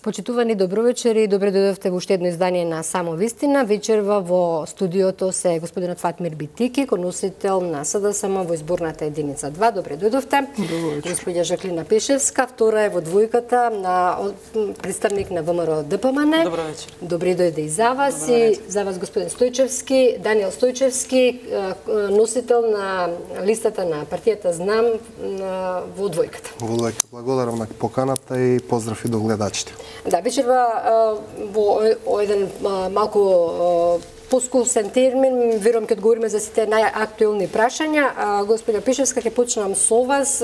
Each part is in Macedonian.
Почитувани добровечери, добре дојдовте во уште едно издание на Само вистина. Вечерва во студиото се господинот Фатмир Битики, коносител на СДСМ во изборната единица 2. Добре дојдовте. Господја Жаклина Пешевска, втора е во двојката на представник на ВМРО ДПМН. Добро вечер. Добре дојде и за вас. И за вас господин Стојчевски, Даниел Стојчевски, носител на листата на партијата Знам во двојката. Во двојката. Благодарам на поканата и поздрав и до гледачите. Да, вечерва во еден малку поскусен термин, верувам ќе одговориме за сите најактуелни прашања. Господја Пешевска, ќе почнам со вас.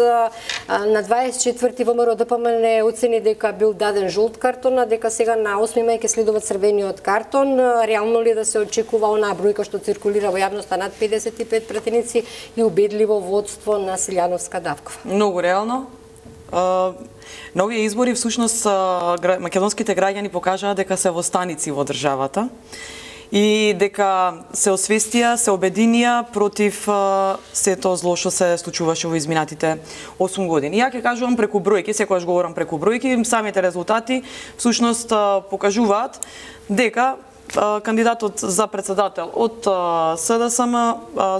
На 24 ВМРО ДПМН оцени дека бил даден жолт картон, а дека сега на 8 мај ќе следува црвениот картон. Реално ли да се очекува онаа бројка што циркулира во јавноста над 55 пратеници и убедливо водство на Силјановска Давкова? Многу реално. На овие избори всушност македонските граѓани покажаа дека се во станици во државата и дека се освестија, се обединија против сето зло што се случуваше во изминатите 8 години. Ја ќе кажувам преку бројки, секогаш говорам преку бројки, самите резултати всушност покажуваат дека кандидатот за председател од СДСМ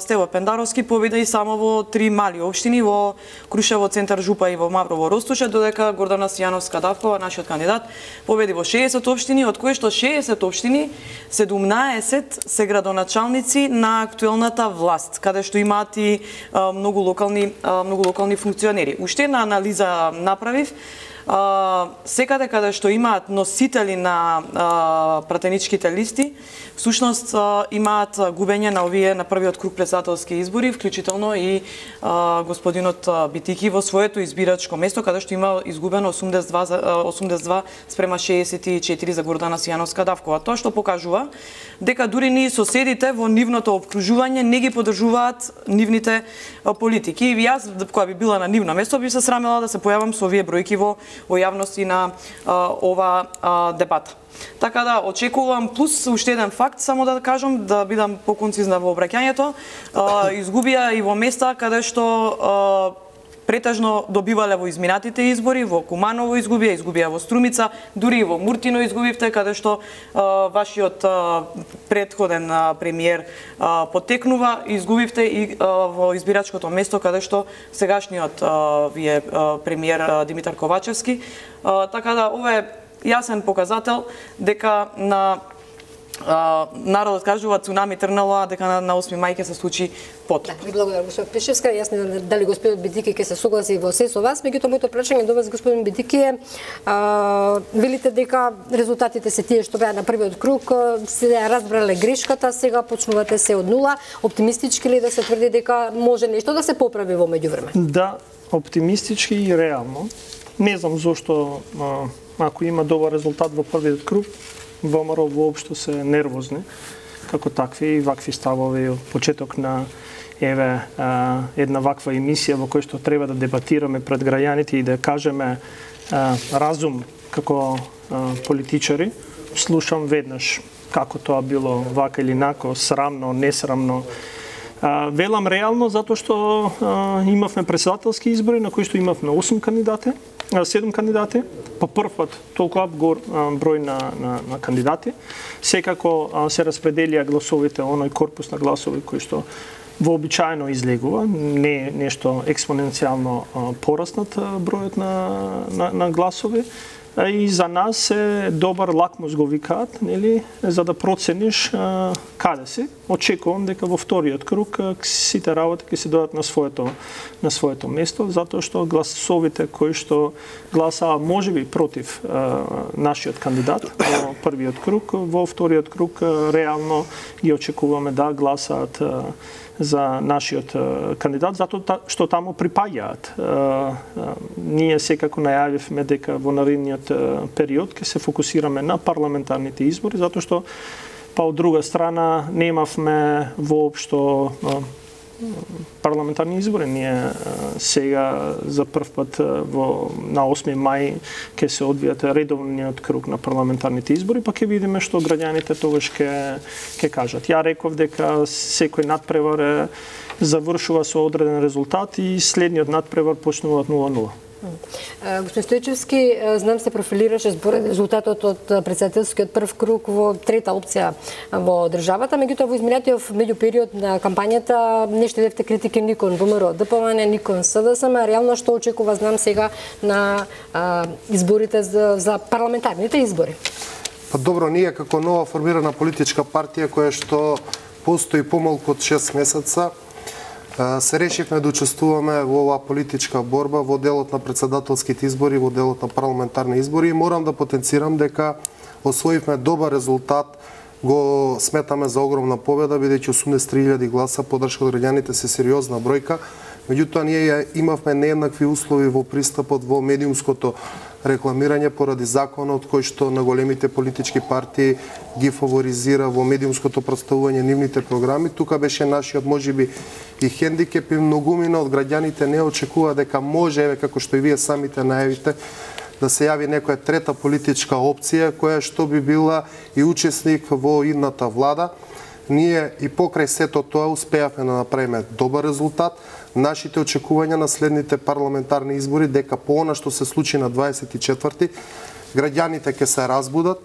Стево Пендаровски победи само во 3 мали општини во Крушево, Центар Жупа и во Маврово Ростуче, додека Гордана Сијановска Давкова, нашиот кандидат, победи во 60 општини, од кои што 60 општини, 17 се градоначалници на актуелната власт, каде што имаат и многу локални функционери. Уште една анализа направив. Секаде каде што имаат носители на пратеничките листи, всушност имаат губење на овие на првиот круг председателски избори, вклучително и господинот Битики во своето избирачко место, каде што има изгубено 82 спрема 64 за Гордана Сијановска Давкова. Тоа што покажува дека дури ни соседите во нивното обкружување не ги поддржуваат нивните политики. И јас, која би била на нивно место, би се срамела да се појавам со овие бројки во јавност и на ова дебата. Така да, очекувам, плюс уште еден факт, само да кажам, да бидам поконцизна во обраќањето, изгубија и во места каде што претежно добивале во изминатите избори, во Куманово изгубија во Струмица, дури и во Муртино изгубивте, каде што вашиот претходен премиер потекнува, изгубивте и во избирачкото место, каде што сегашниот вие премиер Димитар Ковачевски. Така да, ова е јасен показател дека на народот кажува цунами трнало, а дека на 8 мај ќе се случи потоп. Да, ви благодарам, господин Пешевска. Јас не знам дали господинот Битики ќе се согласи во се со вас, меѓутоа моето прашање до вас, господин Битики, е велите дека резултатите се тие што беа на првиот круг, се разбрале грешката, сега почнувате се од нула. Оптимистички ли да се тврди дека може нешто да се поправи во меѓувреме? Да, оптимистички и реално. Не знам зошто ако има добар резултат во првиот круг, ВМРО воопшто се нервозни како такви и вакви ставови од почеток на една ваква емисија во која што треба да дебатираме пред граѓаните и да кажеме разум како политичари. Слушам веднаш како тоа било вака или нако, срамно, несрамно. Велам реално затоа што имавме председателски избори на кои што имавме 7 кандидати, по прв пат толку број на кандидати. Секако се распределија гласовите, оној корпус на гласови кој што вообичаено излегува, не е нешто експоненцијално пораснат бројот на гласови. И за нас е добар лакмус го викаат, нели, за да процениш каде си. Очекувам дека во вториот круг сите работи ќе се дојдат на своето место, затоа што гласовите кои што гласаа можеби против нашиот кандидат во првиот круг, во вториот круг реално ги очекуваме да гласаат за нашиот кандидат, затоа што таму припаѓаат. Ние секако најавивме дека во наредниот период ќе се фокусираме на парламентарните избори, затоа што па од друга страна немавме воопшто парламентарни избори. Ние сега за прв пат на 8 мај ќе се одвијат редовниот круг на парламентарните избори, па ќе видиме што граѓаните тогаш ќе кажат. Ја реков дека секој надпревар завршува со одреден резултат и следниот надпревар почнува од 0-0. Господин Стојчевски, знам се профилираше според резултатот од председателскиот прв круг во трета опција во државата, меѓутоа во изминатиот меѓупериод на кампањата не штедевте критики никон ВМРО, ДПМН, никон СДСМ, реално што очекува, знам сега, на изборите за парламентарните избори? Па добро, ние како нова формирана политичка партија која што постои помалку од 6 месеца, се решивме да учествуваме во оваа политичка борба во делот на председателските избори, во делот на парламентарни избори и морам да потенцирам дека освоивме добар резултат, го сметаме за огромна победа, бидејќи 83.000 гласа поддршка од граѓаните се сериозна бројка. Меѓутоа, ние имавме нееднакви услови во пристапот во медиумското рекламирање поради законот кој што на големите политички партии ги фаворизира во медиумското представување нивните програми. Тука беше нашиот можеби и хендикеп и многумина од граѓаните не очекува дека може, еве како што и вие самите најавите, да се јави некоја трета политичка опција која што би била и учесник во идната влада. Ние и покрај сето тоа успеавме да направиме добар резултат. Нашите очекувања на следните парламентарни избори дека по она што се случи на 24-ти, граѓаните ќе се разбудат,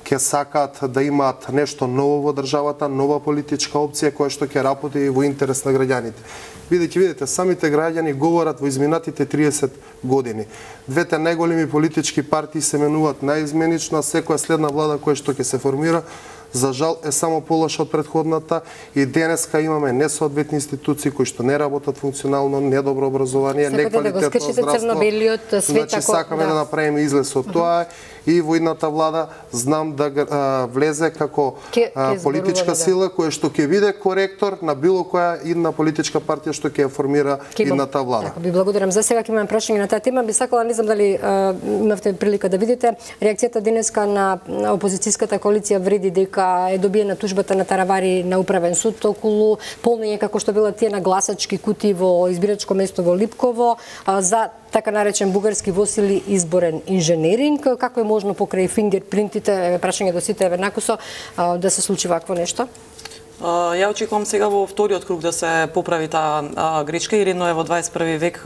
ќе сакаат да имаат нешто ново во државата, нова политичка опција која што ќе работи во интерес на граѓаните. Бидејќи видите, самите граѓани говорат во изминатите 30 години. Двете најголеми политички партии се менуваат наизменично, а секоја следна влада која што ќе се формира за жал е само полоша од претходната и денеска имаме несоодветни институции кои што не работат функционално, недобро образование, неквалитетно здравство. Значи сакаме да направиме излез од тоа и во идната влада знам да влезе како политичка сила која што ќе биде коректор на било која идна политичка партија што ќе ја формира идната влада. Така, ви благодарам. За сега ќе имаме прашање на таа тема. Би сакала, не знам дали имавте прилика да видите реакцијата денеска на опозицијската коалиција вреди дека е добиена тужбата на Таравари на управен суд околу полнење како што била тие на гласачки кутии во избирачко место во Липково за така наречен бугарски восили изборен инженеринг. Како е можно покрај фингерпринтите, прашање до сите веднакусо, да се случи вакво нешто? Ја очекувам сега во вториот круг да се поправи таа грешка и редно е во 21 век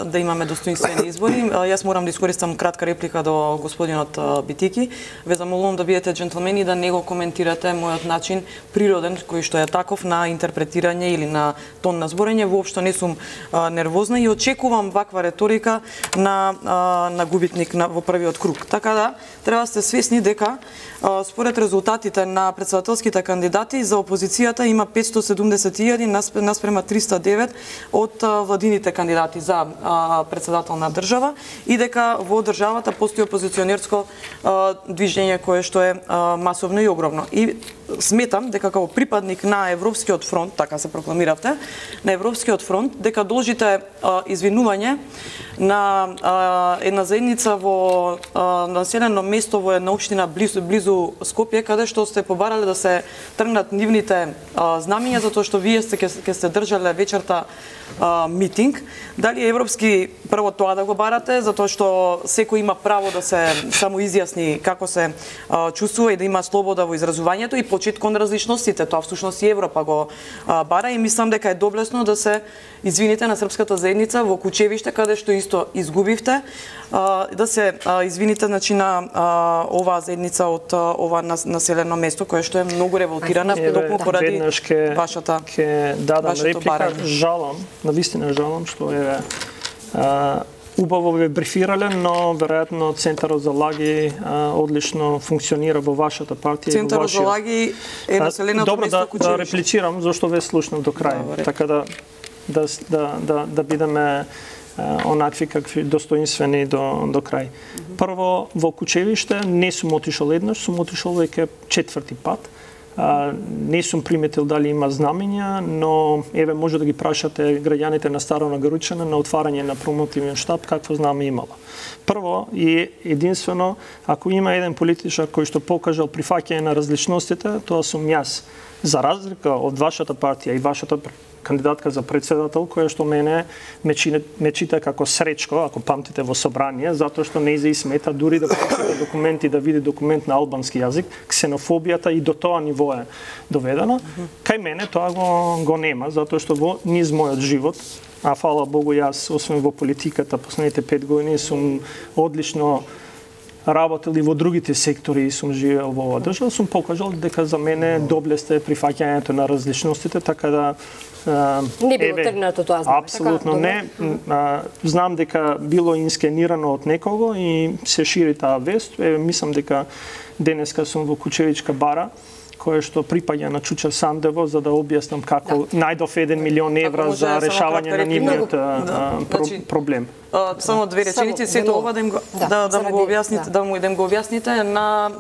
да имаме достоинствени избори. Јас морам да искористам кратка реплика до господинот Битики. Ве замолувам да бидете джентлмени да не го коментирате мојот начин природен, кој што е таков на интерпретирање или на тон на зборење. Воопшто не сум нервозна и очекувам ваква реторика на губитник во првиот круг. Така да, треба сте свесни дека според резултатите на председателските кандидати за опозицијата има 571 наспрема 309 од владините кандидати за председател на држава и дека во државата постои опозиционерско движење кое што е масовно и огромно. И сметам дека како припадник на Европскиот фронт, така се прокламиравте, на Европскиот фронт, дека должите извинување на една заедница во населено место во една општина близу Скопје, каде што сте побарале да се тргнат нивните знамиња затоа што вие ќе сте држале вечерта митинг. Дали европски прво тоа да го барате, затоа што секој има право да се само изјасни како се чувствува и да има слобода во изразувањето и почит кон различностите. Тоа всушност и Европа го бара и мислам дека е доблесно да се извините на српската заедница во Кучевиште, каде што исто изгубивте, да се извините значи на оваа заедница од ова населено место кое што е многу револтирана токму поради вашата реплика. Жалам, навистина жалам што е убаво ве брифирале, но веројатно Центарот за лаги одлично функционира во вашата партија. Центарот за лаги е населеното место Кучевиште. Добро, да реплицирам зашто ве слушнав до крај. Така да бидеме онакви какви достоинствени до крај. Прво, во Кучевиште не сум отишол еднаш, сум отишол веќе 4-ти пат. Не сум приметил дали има знамења, но еве може да ги прашате граѓаните на Старо Нагоричане на отварање на промотивен штаб какво знаме имало. Прво и единствено, ако има еден политичар кој што покажал прифаќање на различностите, тоа сум јас. За разлика од вашата партија и вашата кандидатка за председател, која што мене ме чита како Сречко, ако памтите во собрание, затоа што не и смета дури да прочита документи, да види документ на албански јазик, ксенофобијата и до тоа ниво е доведено. Кај мене тоа го нема, затоа што во низ мојот живот а фала Богу јас, освен во политиката, последните 5 години сум одлично работел и во другите сектори и сум живеел во оваа држава, сум покажал дека за мене доблеста е прифаќањето на различностите, така да не било тргнато тоа, знам. Апсолутно не. Знам дека било инскенирано од некого и се шири таа вест. Мислам дека денеска сум во Кучевичка бара, кое што припаѓа на Чуча Сандево, за да објаснам како најдов 1 милион евра за решавање на нивниот проблем. Само две реченици, сето ова да му го објасните, да му го објасните на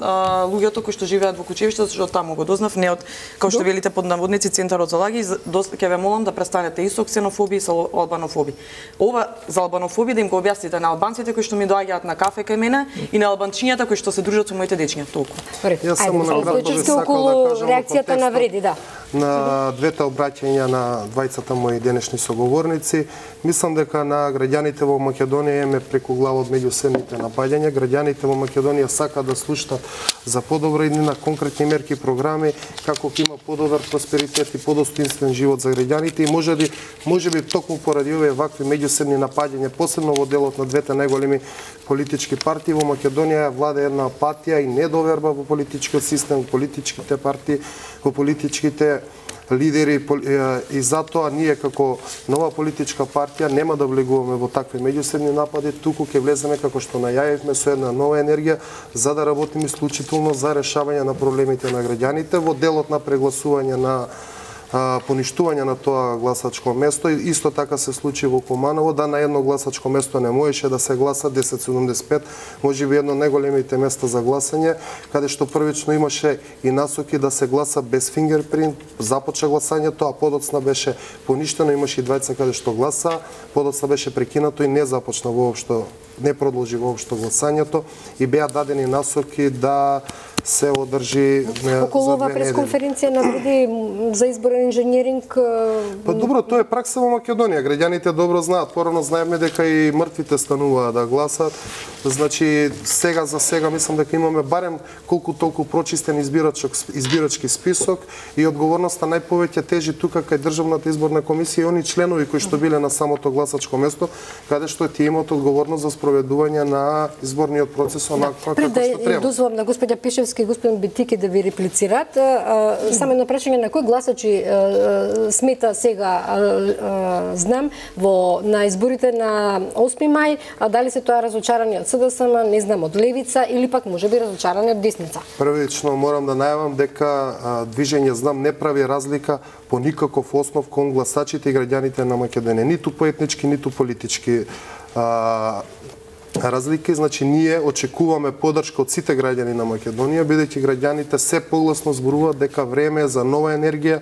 луѓето кои што живеат во Кучевиште, зашто таму го дознав, не од, како што велите под наводници, центарот за лаги, ќе ве молам да престанете и со ксенофобија и со албанофобија. Ова за албанофобија да им го објасните на албанците кои што ми доаѓаат на кафе кај мене и на албанчињата кои што се дружат со моите дечиња, толку. Јас само на кратко би сакал да кажам реакцијата на вреди, да. На двете обраќања на двајцата мои денешни соговорници, мислам дека на граѓаните во Македонија еме преку глава од меѓусебните напаѓања. Граѓаните во Македонија сакаат да слушнат за подобра иднина, конкретни мерки, програми, како ќе има подобар просперитет и подостоинствен живот за граѓаните и можеби токму поради овие вакви меѓусебни напаѓања, посебно во делот на двете најголеми политички партии во Македонија влада една апатија и недоверба во политичкиот систем, во политичките партии, во политичките лидери и затоа ние како нова политичка партија нема да влегуваме во такви меѓусебни напади, туку ќе влеземе како што најавивме со една нова енергија за да работиме исклучително за решавање на проблемите на граѓаните во делот на прегласување на поништување на тоа гласачко место. Исто така се случи во Куманово, да на едно гласачко место не можеше да се гласа 1075, можеби едно најголемите места за гласање, каде што првично имаше и насоки да се гласа без фингерпринт, започна гласањето, а подоцна беше поништено, имаше и двајца каде што гласа, подоцна беше прекинато и не започна воопшто, не продолжи воопшто гласањето и беа дадени насоки да се одржи околу ова пресконференција на вреди за изборен инженеринг. Па добро, тоа е пракса во Македонија. Граѓаните добро знаат. Порано знаеме дека и мртвите стануваат да гласат. Значи сега за сега мислам дека имаме барем колку толку прочистен избирачки список и одговорноста најповеќе тежи тука кај Државната изборна комисија и они членови кои што биле на самото гласачко место, каде што тие имаат одговорност за спроведување на изборниот процес онакво како што треба. Пред да дозволам на господја Пишевски и господин Битики да ви реплицират, само едно прашање на кои гласачи смета сега знам на изборите на 8 мај, дали се тоа разочарани од СДСМ, не знам, од левица или пак можеби разочарани од десница? Првично морам да најавам дека движење Знам не прави разлика по никаков основ кон гласачите и граѓаните на Македонија, ниту по етнички, ниту политички разлики. Значи ние очекуваме поддршка од сите граѓани на Македонија, бидејќи граѓаните се погласно зборуваат дека време е за нова енергија,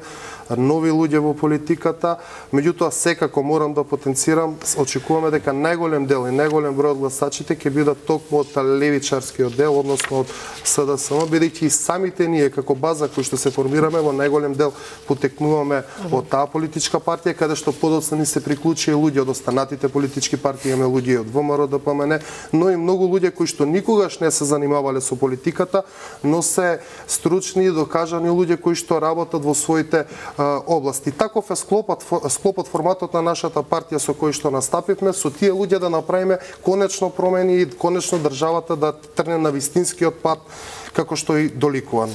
нови луѓе во политиката. Меѓутоа секако морам да потенцирам, очекуваме дека најголем дел и најголем број од гласачите ќе бидат токму од левичарскиот дел, односно од СДСМ, бидејќи и самите ние како база кои што се формираме во најголем дел потекнуваме од таа политичка партија, каде што подоцна ни се приклучи и луѓе од останатите политички партии, имаме луѓе од ВМРО, ДПМН, но и многу луѓе кои што никогаш не се занимавале со политиката, но се стручни и докажани луѓе кои што работат во своите области. Таков е склопот форматот на нашата партија со кој што настапивме, со тие луѓе да направиме конечно промени и конечно државата да трне на вистинскиот пат како што и доликуван.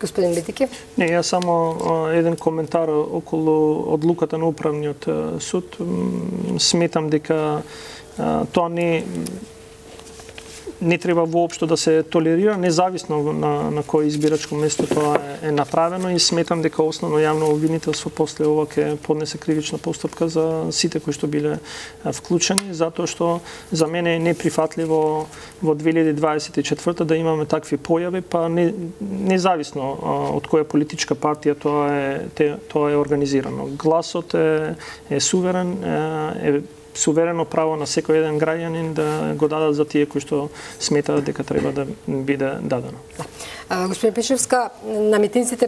Господин Битики? Не, ја само еден коментар околу одлуката на управниот суд. Сметам дека тоа не треба воопшто да се толерира, независно на кој избирачко место тоа е направено, и сметам дека основно јавно обвинителство после ова ќе поднесе кривична постапка за сите кои што биле вклучени, затоа што за мене е неприфатливо во 2024 да имаме такви појави, па независно од која политичка партија тоа е организирано. Гласот е суверен, е суверено право на секој еден граѓанин да го дадат за тие кои што сметаат дека треба да биде дадено. Господин Пишевска, на митинците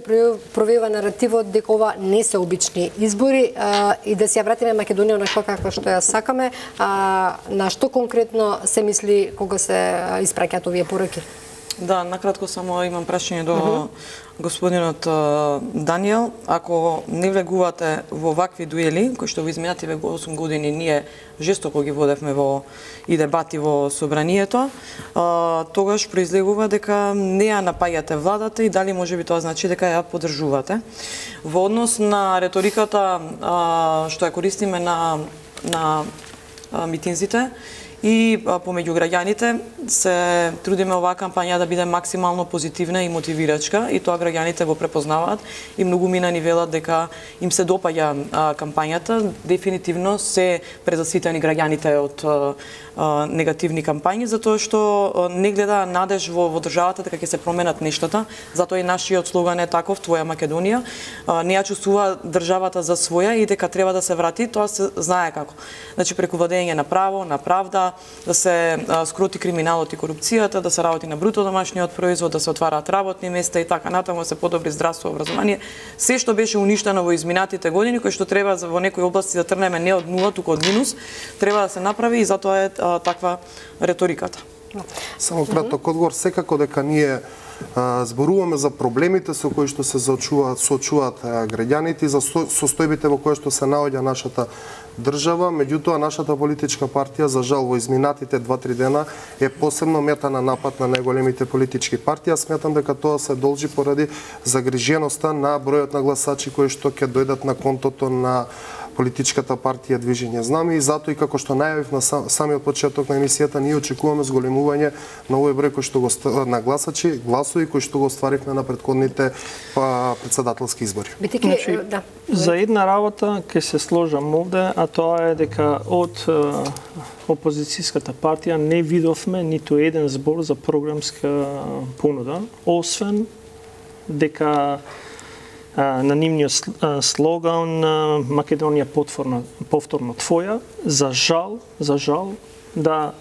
провива наративот дека ова не се обични избори и да се ја вратиме Македонија онаква каква што ја сакаме, на што конкретно се мисли кога се испраќаат овие пораки? Да, накратко само имам прашање до господинот Даниел. Ако не влегувате во вакви дуели, кои што во изминативе 8 години ние жестоко ги водевме и дебати во собранието, тогаш произлегува дека не ја напаѓате владата и дали можеби тоа значи дека ја поддржувате. Во однос на реториката што ја користиме на митинзите, и помеѓу граѓаните се трудиме оваа кампања да биде максимално позитивна и мотивирачка и тоа граѓаните го препознаваат и многу мина ни велат дека им се допаѓа кампањата. Дефинитивно се презаситени граѓаните од негативни кампањи, затоа што не гледа надеж во државата дека ќе се променат нештата. Затоа и нашиот слоган е таков: Твоја Македонија. Не ја чувствува државата за своја и дека треба да се врати, тоа се знае како. Значи преку владење на право, на правда, да се скроти криминалот и корупцијата, да се работи на бруто домашниот производ, да се отвараат работни места и така натаму, да се подобри здравство, образование. Се што беше уништено во изминатите години, кои што треба во некои области да тргнеме не од нула, туку од минус, треба да се направи и затоа е таква реториката. Само краток одговор, секако дека ние зборуваме за проблемите со кои што се соочуваат граѓаните и за состојбите во кои што се наоѓа нашата држава, меѓутоа нашата политичка партија за жал во изминатите 2-3 дена е посебно мета на напад на најголемите политички партии. Сметам дека тоа се должи поради загриженоста на бројот на гласачи кои што ќе дојдат на контото на политичката партија Движење Знаме и затоа и како што најавив на самиот почеток на емисијата, ние очекуваме зголемување на овој број кој што на гласови кои што го остваривме на претходните претседателски избори. Значи, за една работа ќе се сложам овде, а тоа е дека од опозицијската партија не видовме ниту еден збор за програмска понуда, освен дека на нивниот слоган Македонија повторно твоја. За жал, да,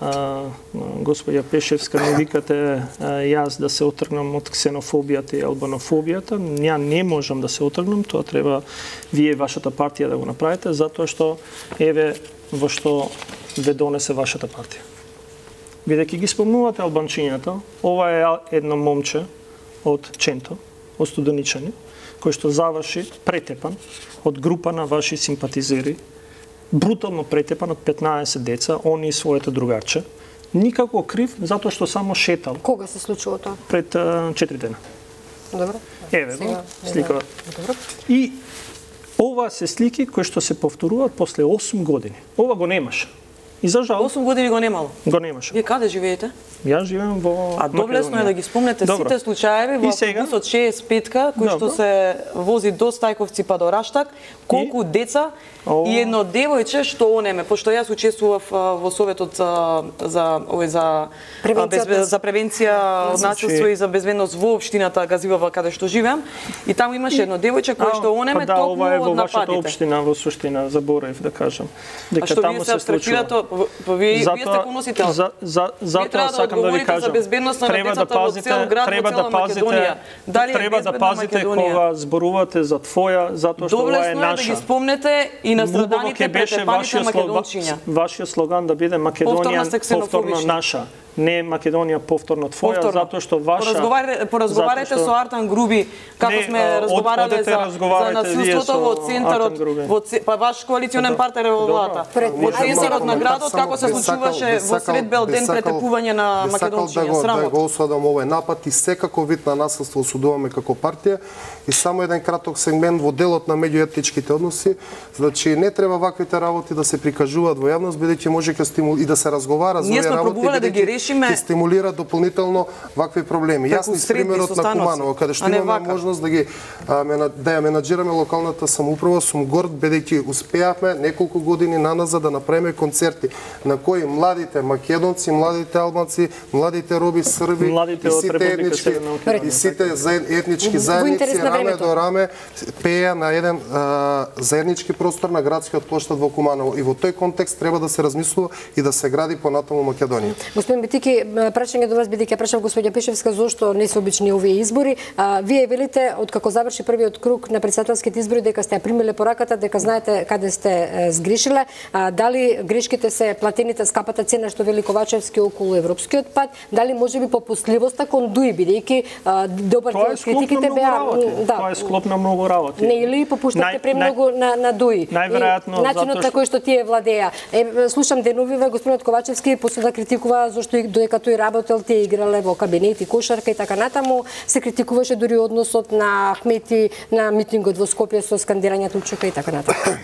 господја Пешевска, не викате јас да се отргнам од ксенофобијата и албанофобијата. Ја не можам да се отргнам, тоа треба вие, вашата партија, да го направите, затоа што еве во што ве донесе вашата партија. Бидејќи ги спомнувате албанчињата, ова е едно момче од Ченто, од Студеничани, кој што заврши претепан од група на ваши симпатизери, брутално претепан од 15 деца, они и своето другарче, никако крив, затоа што само шетал. Кога се случува тоа? Пред 4 дена. Добро. Еве го, сликава. И ова се слики кои што се повторуваат после 8 години. Ова го немаше. И за жал 8 години го немало. Го немаше. Вие каде живеете? Јас живеам во А доблесно е да ги спомнете сите случаеви во автобусот 65-ка кој што се вози до Стајковци па до Раштак, колку деца и едно девојче што онеме, пошто јас учествував во советот за превенција од насилство и за безбедност во општината Газивава каде што живеам, и таму имаше едно девојче кое што онеме токму од нападите. Ова е во вашата општина, во суштина, заборев да кажам. Дека таму се случува. Вие сте поносител. Затоа сакам да ви кажам, треба да пазите кога зборувате за твоја, затоа што ова е наша. Доблесно е да ги спомнете и на страданите претепаните македончиња. Вашиот слоган да биде Македонија повторно наша. Не Македонија повторно твоја, затоа што ваша... Поразговарате со Артан Груби, како сме разговарале за насилството во центарот, па ваш коалиционен партнер во владата. Во центарот на градот, како се случуваше во сред бел ден претепување на македончиња. Да го осудам овој напад и секако вид на насилство осудуваме како партија. И само еден краток сегмент во делот на меѓуетничките односи, значи не треба ваквите работи да се прикажуваат во јавност, бидејќи може и да се разговара за овие работи, ќе стимулира дополнително вакви проблеми. Јас примерот на Куманово, каде што имаме можност да ја менаџираме локалната самоуправа, сум горд бидејќи успеавме неколку години наназад да направиме концерти на кои младите македонци, младите албанци, младите роби, срби и сите етнички заедници раме до раме пееа на еден заеднички простор на градскиот плоштад во Куманово. И во тој контекст треба да се размислува и да се гради понатаму Македонија. Господин Тики, прашање до вас, бидејќи прашав господја Пишевска зошто не се обични овие избори. Вие велите откако заврши првиот круг на претседателските избори дека сте ја примиле пораката, дека знаете каде сте сгрешиле. Дали грешките се платените скапата цена што вели Ковачевски околу европскиот пат, дали можеби попустливоста кон ДУИ, бидејќи добар дел од критиките беа Тоа е склоп на многу работи. Не или попуштавте премногу на ДУИ. Најверојатно начинот на кој што тие владеа. Слушам денувиве господинот Ковачевски после да критикува зашто додека тој работел тие играле во кабинет и кошарка и така натаму, се критикуваше дури односот на Ахмети на митингот во Скопје со скандирањето Учука и така натаму.